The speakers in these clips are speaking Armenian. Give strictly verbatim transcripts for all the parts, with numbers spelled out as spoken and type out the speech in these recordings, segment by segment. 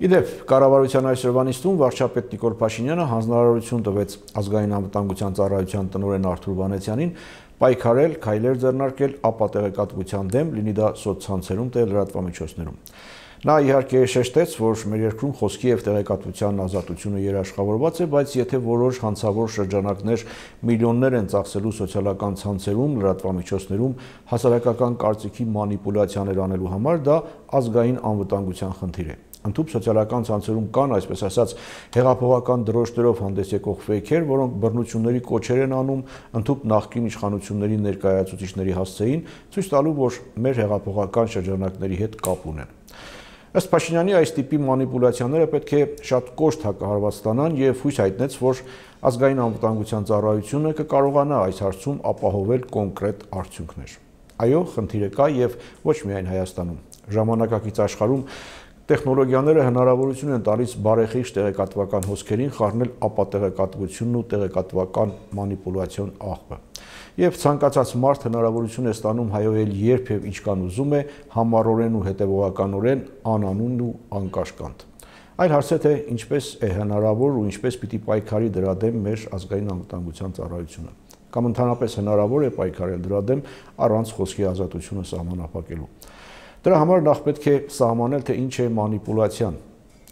Իդեպ, կառավարության այսօրվա նիստում վարչապետ Նիկոլ Փաշինյանը հանձնարարություն տվեց ազգային անվտանգության ծառայության տնօրեն Արթուր Վանեցյանին պայքարել, քայլեր ձեռնարկել ապատեղեկատվության դեմ, լինի դա սոցցանցերում, թե լրատվամիջոցներում։ Նա իհարկե շեշտեց, որ մեր երկրում խոսքի եւ տեղեկատվության ազատությունը երաշխավորված է, բայց եթե որոշ հանցավոր շրջանակներ միլիոններ են ծախսելու սոցիալական ցանցերում, լրատվամիջոցներում հասարակական կարծիքի մանիպուլյացիաներ անելու համար, դա ազգային անվտանգության խնդիր է։ Ընդհանուր սոցիալական ցանցերում կան, այսպես ասած, հեղափոխական դրոշներով հանդես եկող ֆեյքեր, որոնք բռնությունների կոչեր են անում ընդհանուր նախկին իշխանությունների ներկայացուցիչների հասցեին, ցույց տալու, որ մեր հեղափոխական շրջանակների հետ կապ ունեն։ Ըստ Փաշինյանի այս տիպի մանիպուլյացիաները պետք է շատ կոշտ հակահարված ստանան եւ հույս հայտնեց, որ ազգային անվտանգության ծառայությունը կկարողանա այս հարցում ապահովել կոնկրետ արդյունքներ։ Այո, խնդիրը կա եւ ոչ միայն Հայաստանում։ Ժամանակակից աշխարհում տեխնոլոգիաները հնարավորություն են տալիս բարեխիղճ տեղեկատվական հոսքերին խառնել ապատեղեկատվությունն ու տեղեկատվական մանիպուլյացիոն աղբը։ Եվ ցանկացած մարդ հնարավորություն է ստանում հայոյել երբ եւ ինչքան ուզում է, համառորեն ու հետեւողականորեն, անանուն ու անկաշկանդ։ Այլ հարց է, թե ինչպես է հնարավոր ու ինչպես պիտի պայքարի դրա դեմ մեր ազգային անվտանգության ծառայությունը, կամ ընդհանրապես հնարավոր է պայքարել դրա դեմ առանց խոսքի ազատությունը սահմանափակելու։ Դրա համար նախ պետք է սահմանել, թե ինչ է մանիպուլյացիան։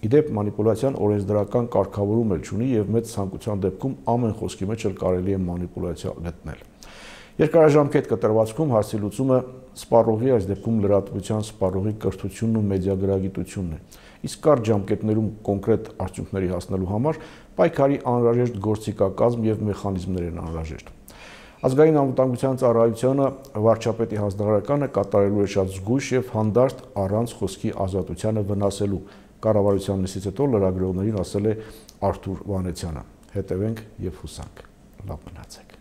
Իդեպ մանիպուլյացիան օրենսդրական կարգավորում էլ չունի եւ մեծ ցանկության դեպքում ամեն խոսքի մեջ էլ կարելի է մանիպուլյացիա գտնել։ Երկարաժամկետ կտրվածքում հարցի լուծումը սպառողի, այս դեպքում լրատվության սպառողի կրթությունն ու մեդիագրագիտությունն է։ Իսկ կարճ ժամկետներում կոնկրետ արդյունքների հասնելու համար պայքարի անհրաժեշտ գործիքակազմ եւ մեխանիզմներ են անհրաժեշտ։ Ազգային անվտանգության ծառայությունը վարչապետի հանձնարարականը կատարելու է շատ զգույշ եւ հանդարտ առանց խոսքի ազատությանը վնասելու, կառավարության նիստից հետո լրագրողներին ասել է Արթուր Վանեցյանը։ Հետևենք եւ հուսանք։ Լավ մնացեք։